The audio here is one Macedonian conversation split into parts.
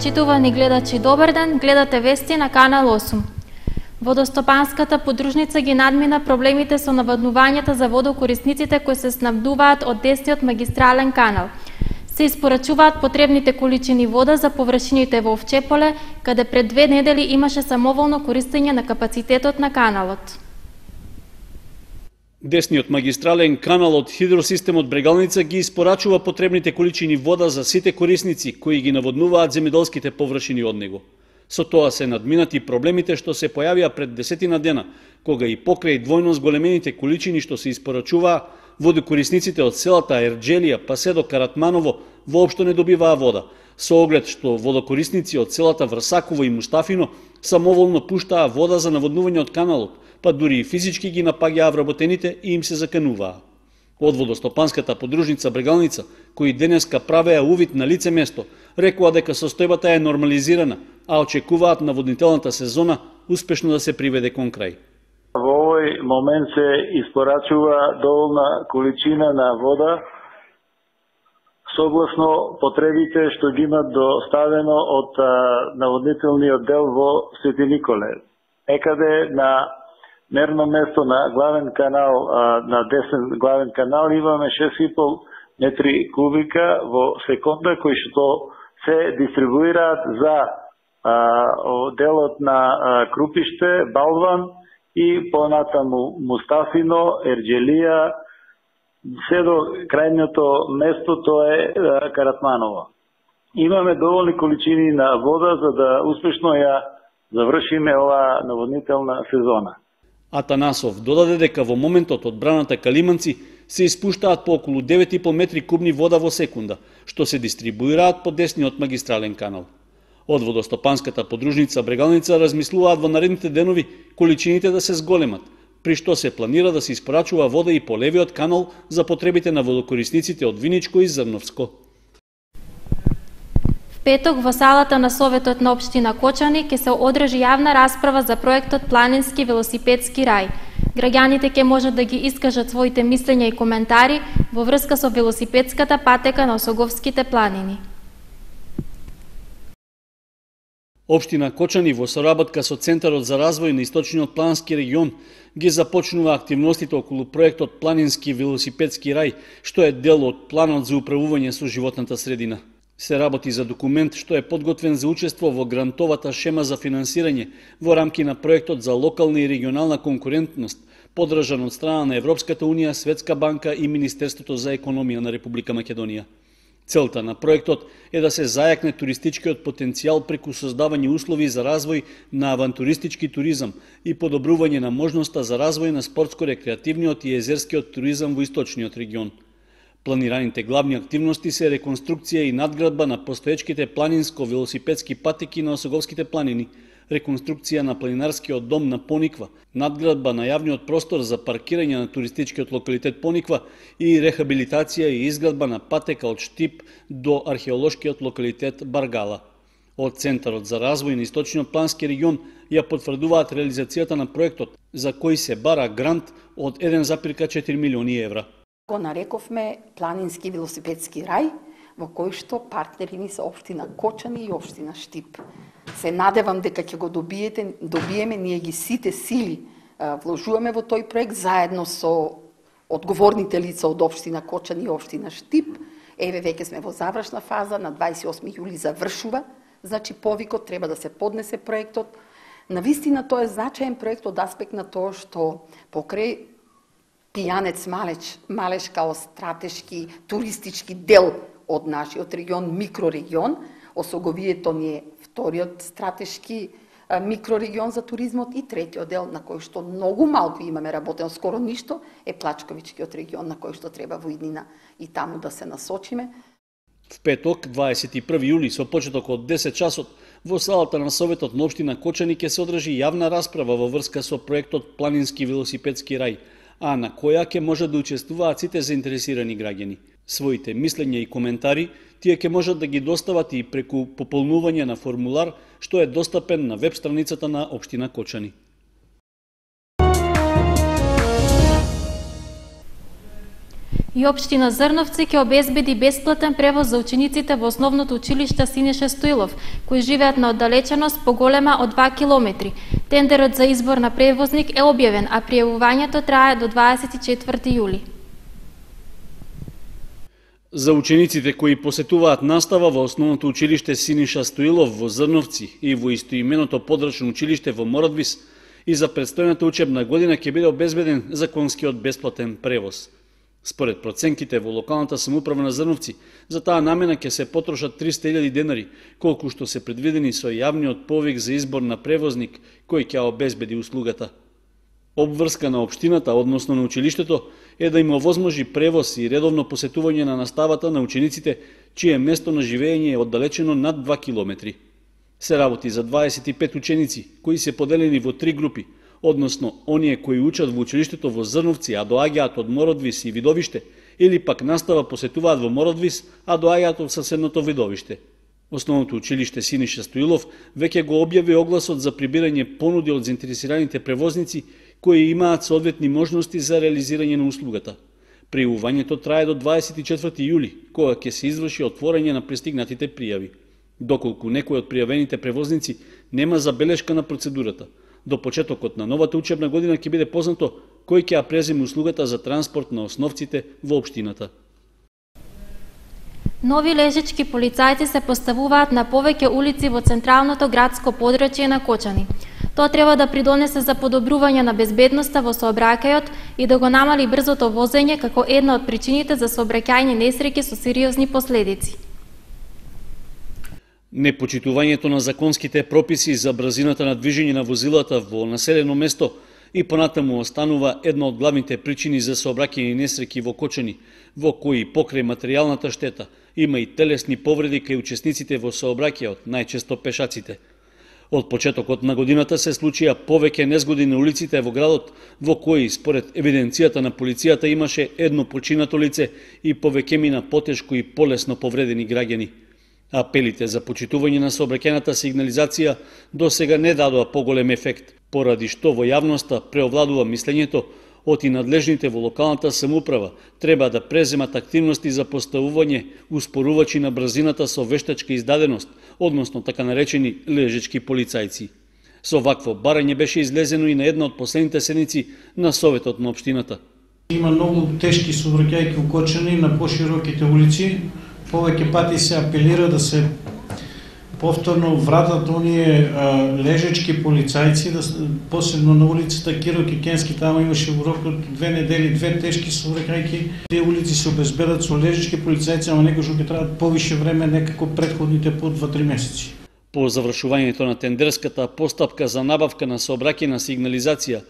Почитувани гледачи, добар ден, гледате вести на Канал 8. Водостопанската подружница ги надмина проблемите со наводнувањата за водокорисниците кои се снабдуваат од 10-тиот магистрален канал. Се испорачуваат потребните количини вода за површините во Овчеполе, каде пред 2 недели имаше самоволно користење на капацитетот на каналот. Десниот магистрален канал од хидросистемот Брегалница ги испорачува потребните количини вода за сите корисници кои ги наводнуваат земјоделските површини од него. Со тоа се надминати проблемите што се појавија пред 10 дена, кога и покрај двојно зголемените количини што се испорачуваа, водокорисниците од селата Ерџелија па се до Каратманово воопшто не добиваа вода, со оглед што водокорисници од селата Врсаково и Мустафино самоволно пуштаа вода за наводнување од каналот, па дури и физички ги напаѓаа вработените и им се закануваа. Од водостопанската подружница Брегалница, кои денеска правеа увид на лице место, рекоа дека состојбата е нормализирана, а очекуваат наводнителната сезона успешно да се приведе кон крај. Во овој момент се испорачува доволна количина на вода согласно потребите што ги имат доставено од наводнителниот дел во Свети Николе. Некаде на мерно место на главен канал, на десен главен канал имаме 6,5 метри кубика во секунда кои што се дистрибуираат за делот на Крупиште, Балван и понатаму Мустафино, Ерџелија, се до крајното место, тоа е Каратманово. Имаме доволни количини на вода за да успешно ја завршиме оваа наводнителна сезона. Атанасов додаде дека во моментот од браната Калиманци се испуштаат по околу 9,5 метри кубни вода во секунда, што се дистрибуираат по десниот магистрален канал. Од водостопанската подружница Брегалница размислуваат во наредните денови количините да се зголемат, при што се планира да се испорачува вода и по левиот канал за потребите на водокорисниците од Виничко и Зрновско. Петок во салата на Советот на општина Кочани ќе се одржи јавна расправа за проектот Планински велосипедски рај. Граѓаните ќе можат да ги искажат своите мислења и коментари во врска со велосипедската патека на Осоговските планини. Општина Кочани во соработка со Центарот за развој на Источниот планински регион ги започнува активностите околу проектот Планински велосипедски рај, што е дел од планот за управување со животната средина. Се работи за документ што е подготвен за учество во грантовата шема за финансирање во рамки на проектот за локална и регионална конкурентност, поддржан од страна на Европската унија, Светска банка и Министерството за економија на Република Македонија. Целта на проектот е да се зајакне туристичкиот потенцијал преку создавање услови за развој на авантуристички туризам и подобрување на можноста за развој на спортско-рекреативниот и езерскиот туризам во источниот регион. Планираните главни активности се реконструкција и надградба на постоечките планинско-велосипедски патеки на Осоговските планини, реконструкција на планинарскиот дом на Пониква, надградба на јавниот простор за паркирање на туристичкиот локалитет Пониква и рехабилитација и изградба на патека од Штип до археолошкиот локалитет Баргала. Од Центарот за развој на Источниот планински регион ја потврдуваат реализацијата на проектот, за кој се бара грант од 1,4 милиони евра. Го нарековме Планински велосипедски рај, во кој што партнери ни се општина Кочани и општина Штип. Се надевам дека ќе го добиеме, ние ги сите сили вложуваме во тој проект заедно со одговорните лица од општина Кочани и општина Штип. Еве веќе сме во завршна фаза, на 28 јули завршува, значи повикот треба да се поднесе проектот. Навистина тоа е значаен проект од аспект на тоа што покрај Пијанец Малеш као стратешки туристички дел од нашиот регион, микрорегион, Осоговието ни е вториот стратешки микрорегион за туризмот и третиот дел на кој што многу малку имаме работено, скоро ништо, е Плачковичкиот регион на кој што треба во иднина и таму да се насочиме. В петок, 21 јули, со почеток од 10 часот, во салата на Советот на општина Кочани ќе се одржи јавна расправа во врска со проектот Планински велосипедски рај, а на која ќе може да учествуваат сите заинтересирани граѓани. Своите мислења и коментари тие ќе можат да ги достават и преку пополнување на формулар што е достапен на веб страницата на општина Кочани. И општина Зрновци ќе обезбеди бесплатен превоз за учениците во основното училиште Синиша Стоилов, кои живеат на оддалеченост поголема од 2 километри. Тендерот за избор на превозник е објавен, а пријавувањето трае до 24 јули. За учениците кои посетуваат настава во основното училиште Синиша Стоилов во Зрновци и во истоименото подрачно училиште во Мородвис, и за предстојната учебна година ќе биде обезбеден законскиот бесплатен превоз. Според проценките во локалната самоуправа на Зрновци, за таа намена ќе се потрошат 300.000 денари, колку што се предвидени со јавниот повик за избор на превозник кој ќе обезбеди услугата. Обврска на општината, односно на училиштето, е да им овозможи превоз и редовно посетување на наставата на учениците чие место на живење е оддалечено над 2 километри. Се работи за 25 ученици кои се поделени во 3 групи, односно оние кои учат во училиштето во Зрновци, а доаѓаат од Мородвис и Видовиште, или пак настава посетуваат во Мородвис, а доаѓаат од соседното Видовиште. Основното училиште Синиша Стоилов веќе го објави огласот за прибирање понуди од заинтересираните превозници кои имаат соодветни можности за реализирање на услугата. Пријавувањето трае до 24 јули, кога ќе се изврши отворање на пристигнатите пријави. Доколку некој од пријавените превозници нема забелешка на процедурата, до почетокот на новата учебна година ќе биде познато кој ќе ја преземе услугата за транспорт на основците во општината. Нови лежички полицајци се поставуваат на повеќе улици во централното градско подрачје на Кочани. Тоа треба да придонесе за подобрување на безбедноста во сообраќајот и да го намали брзото возење како една од причините за сообраќајни несреќи со сериозни последици. Непочитувањето на законските прописи за брзината на движење на возилата во населено место и понатаму останува една од главните причини за сообраќајни несреќи во Кочани, во кои покрај материјалната штета има и телесни повреди кај учесниците во сообраќајот, најчесто пешаците. Од почетокот на годината се случија повеќе незгоди на улиците во градот, во кои, според евиденцијата на полицијата, имаше едно починато лице и повеќе мина потешко и полесно повредени граѓани. Апелите за почитување на сообраќајната сигнализација до сега не дадоа поголем ефект, поради што во јавноста преовладува мислењето од и надлежните во локалната самоуправа треба да преземат активности за поставување успорувачи на брзината со вештачка издаденост, односно така наречени лежички полицајци. Со вакво барање беше излезено и на една од последните седници на Советот на општината. Има многу тешки сообраќајки во Кочани на пошироките улици. Повеќе пати се апелира да се повторно вратат оние лежечки полицајци, посебно на улицата Киро Кикенски, тamo имаше во рок од 2 недели 2 тешки сообраќајки. Тие улици се обезбедат со лежечки полицајци, ама некој што ќе треба повише време некако претходните по 2-3 месеци. По завршувањето на тендерската постапка за набавка на сообраќајна сигнализација,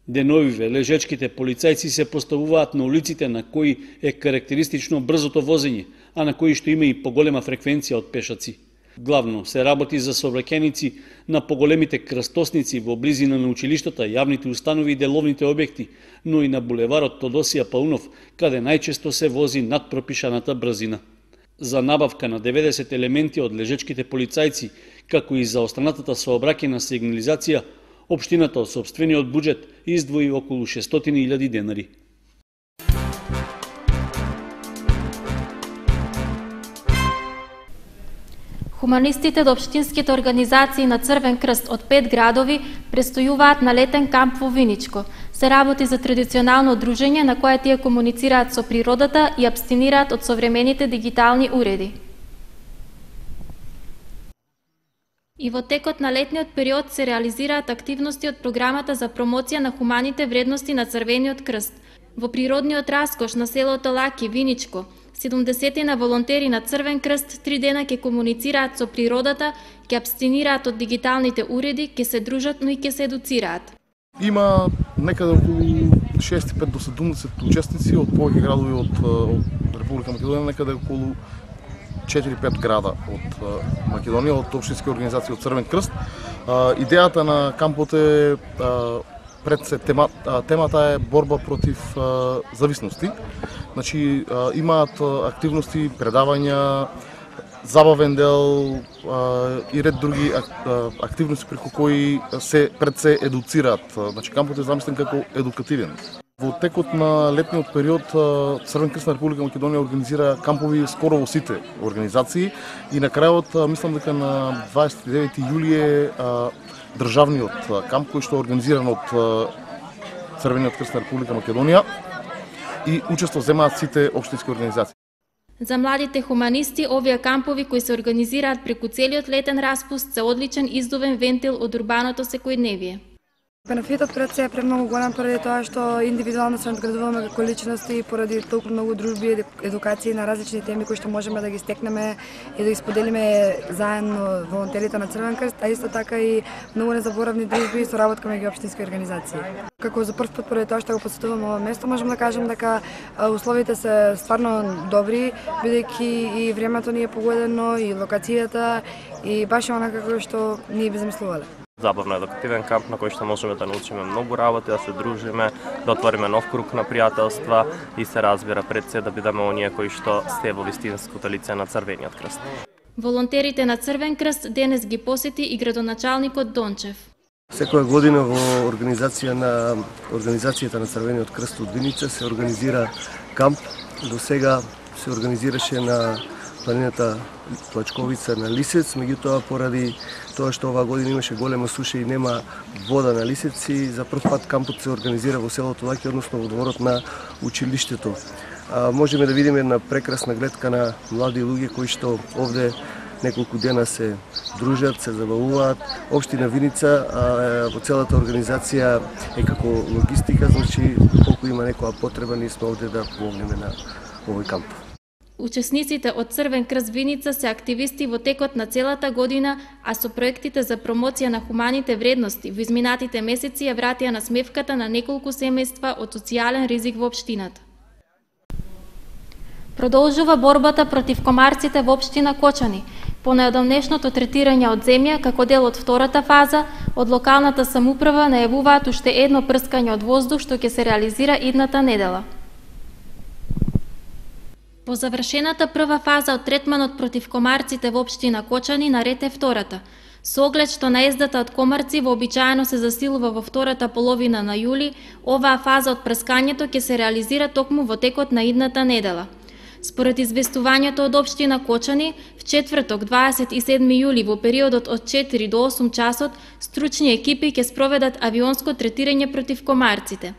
деновиве лежечките полицајци се поставуваат на улиците на кои е карактеристично брзото возење, а на кои што има и поголема фреквенција од пешаци. Главно се работи за сообраќајници на поголемите крстосници во близина на училиштата, јавните установи и деловните објекти, но и на булеварот Тодосија Паунов, каде најчесто се вози над пропишаната брзина. За набавка на 90 елементи од лежечките полицајци, како и за останатата сообраќајна сигнализација, општината од сопствениот буџет издвои околу 600.000 денари. Хуманистите до општинските организации на Црвен крст од 5 градови престојуваат на летен камп во Виничко. Се работи за традиционално дружење на кое тие комуницираат со природата и абстинираат од современите дигитални уреди. И во текот на летниот период се реализираат активности од програмата за промоција на хуманите вредности на Црвениот крст. Во природниот раскош на селото Лаки, Виничко, 70 на волонтери на Црвен крст 3 дена ќе комуницираат со природата, ќе абстинираат од дигиталните уреди, ќе се дружат, но и ќе се едуцираат. Има некаде околу 65 до 70 учесници од повеќе градови од Република Македонија, некаде околу 4-5 града од Македонија, од општински организации од Црвен крст. Идејата на кампот е пред се темата е борба против зависности. Значи имаат активности, предавања, забавен дел и ред други активности преку кои се едуцираат. Значи кампот е замислен како едукативен. Во текот на летниот период Црвен крст на Република Македонија организира кампови скоро во сите организации и на крајот мислам дека на 29 јули е државниот камп кој што е организиран од Црвениот крст на Република Македонија и учество земаат сите општински организации. За младите хуманисти, овие кампови кои се организираат преку целиот летен распуст се одличен издувен вентил од урбаното секојдневие. Бенефитот пред се е премногу голем поради тоа што индивидуално се надградуваме како личности и поради толку многу дружби и едукации на различни теми кои што можеме да ги стекнеме и да ги споделиме заедно волонтерите на Црвен крст, а исто така и многу незаборавни дружби и соработка меѓу општински организации. Како за прв пат поради тоа што го посетуваме ова место, можам да кажам дека условите се стварно добри, бидејќи и времето ни е погодено и локацијата и баш онака како што ние би замислувале. Забавно едукативен камп на кој што можеме да научиме многу работи, да се дружиме, да отвориме нов круг на пријателства и се разбира пред се да бидеме оние кои што сте во вистинското лице на Црвениот крст. Волонтерите на Црвен крст денес ги посети и градоначалникот Дончев. Секоја година во организацијата на Црвениот крст од Виница се организира камп. До сега се организираше на планината Плачковица на Лисец, меѓутоа поради тоа што оваа година имаше голема суша и нема вода на Лисеци, за прв пат кампот се организира во селото Лаки, односно во дворот на училиштето. Можеме да видиме една прекрасна гледка на млади луѓе кои што овде неколку дена се дружат, се забавуваат. Општина Виница во целата организација е како логистика, значи колку има некоја потреба, ние сме овде да помогнеме на овој камп. Учесниците од Црвен крст Виница се активисти во текот на целата година, а со проектите за промоција на хуманите вредности во изминатите месеци ја вратија на смевката на неколку семејства од социјален ризик во општината. Продолжува борбата против комарците во општина Кочани. По најодамнешното третирање од земја, како дел од втората фаза, од локалната самоуправа најавуваат уште едно прскање од воздух што ќе се реализира идната недела. По завршената прва фаза од третманот против комарците во општина Кочани наред е втората. Со оглед што наездата од комарци вообичаено се засилува во втората половина на јули, оваа фаза од прскањето ќе се реализира токму во текот на идната недела. Според известувањето од општина Кочани, в четврток 27 јули во периодот од 4 до 8 часот, стручни екипи ќе спроведат авионско третирање против комарците.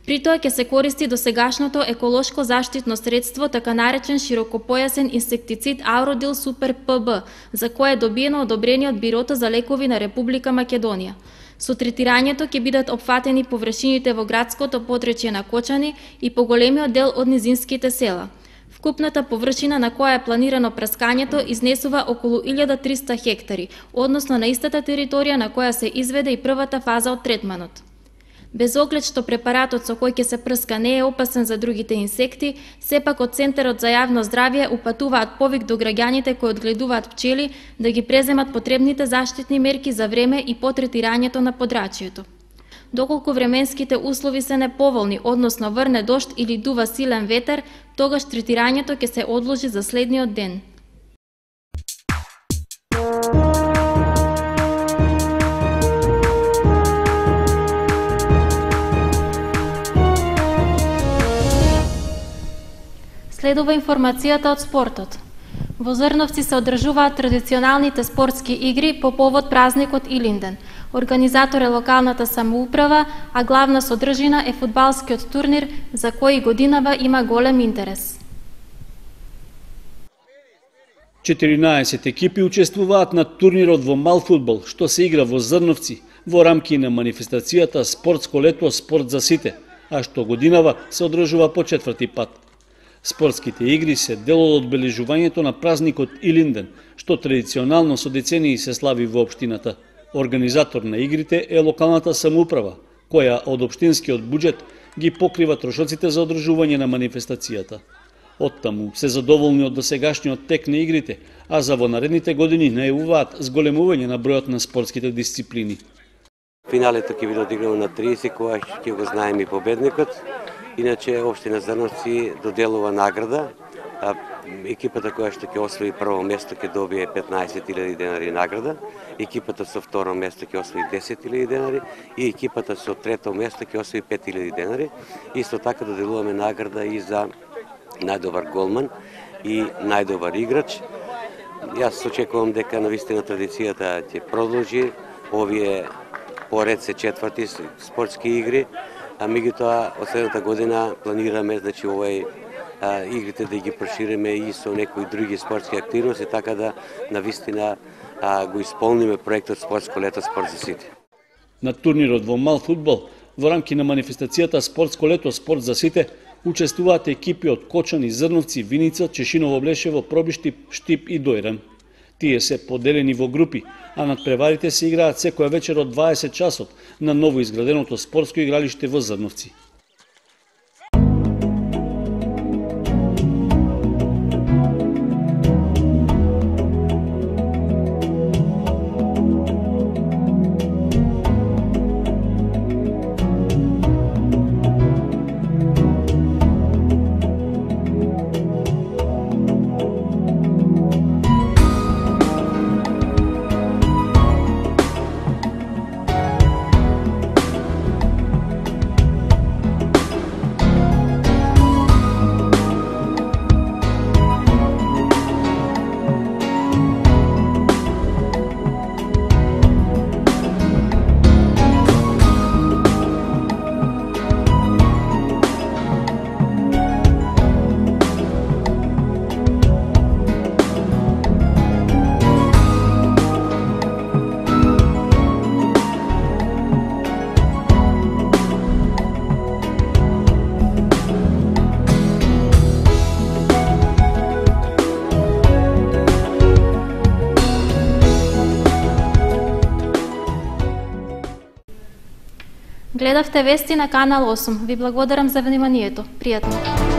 При тоа ќе се користи досегашното еколошко заштитно средство, така наречен широкопојасен инсектицид Ауродил Супер ПБ, за кое е добиено одобрение од Бирото за лекови на Република Македонија. Со третирањето ќе бидат опфатени површините во градското подречје на Кочани и поголемиот дел од низинските села. Вкупната површина на која е планирано прскањето изнесува околу 1300 хектари, односно на истата територија на која се изведе и првата фаза од третманот. Без оглед што препаратот со кој ќе се прска не е опасен за другите инсекти, сепак од Центарот за јавно здравје упатуваат повик до граѓаните кои одгледуваат пчели да ги преземат потребните заштитни мерки за време и по третирањето на подрачјето. Доколку временските услови се неповолни, односно врне дожд или дува силен ветер, тогаш третирањето ќе се одложи за следниот ден. Следува информацијата од спортот. Во Зрновци се одржуваат традиционалните спортски игри по повод празникот Илинден. Организатор е локалната самоуправа, а главна содржина е фудбалскиот турнир за кој годинава има голем интерес. 14 екипи учествуваат на турнирот во мал фудбал, што се игра во Зрновци, во рамки на манифестацијата Спортско лето, спорт за сите, а што годинава се одржува по четврти пат. Спортските игри се дел од одбележувањето на празникот Илинден, што традиционално со децении се слави во општината. Организатор на игрите е локалната самоуправа, која од општинскиот буџет ги покрива трошоците за одржување на манифестацијата. Оттаму се задоволни од досегашниот тек на игрите, а за во наредните години најавуваат зголемување на бројот на спортските дисциплини. Финалето ќе биде одиграно на 30, кога ќе го знаеме и победникот. Иначе општина Зрновци доделува награда. екипата која што ќе освои прво место ќе добие 15.000 денари награда, екипата со второ место ќе освои 10.000 денари и екипата со трето место ќе освои 5.000 денари. Исто така доделуваме награда и за најдобар голман и најдобар играч. Јас очекувам дека навистина традицијата ќе продолжи. Овие поред се четврти спортски игри, а меѓутоа од следната година планираме овој игрите да ги прошириме и со некои други спортски активности, така да навистина го исполниме проектот Спортско лето, спорт за сите. На турнирот во мал фудбал, во рамки на манифестацијата Спортско лето, спорт за сите, учествуваат екипи од Кочани, Зрновци, Виница, Чешиново, Блешево, Пробишти, Штип и Дојран. Тие се поделени во групи, а надпреварите се играат секоја вечер од 20 часот на ново изграденото спортско игралиште во Зрновци. Гледавте вести на Канал 8. Ви благодарам за вниманието. Пријатно.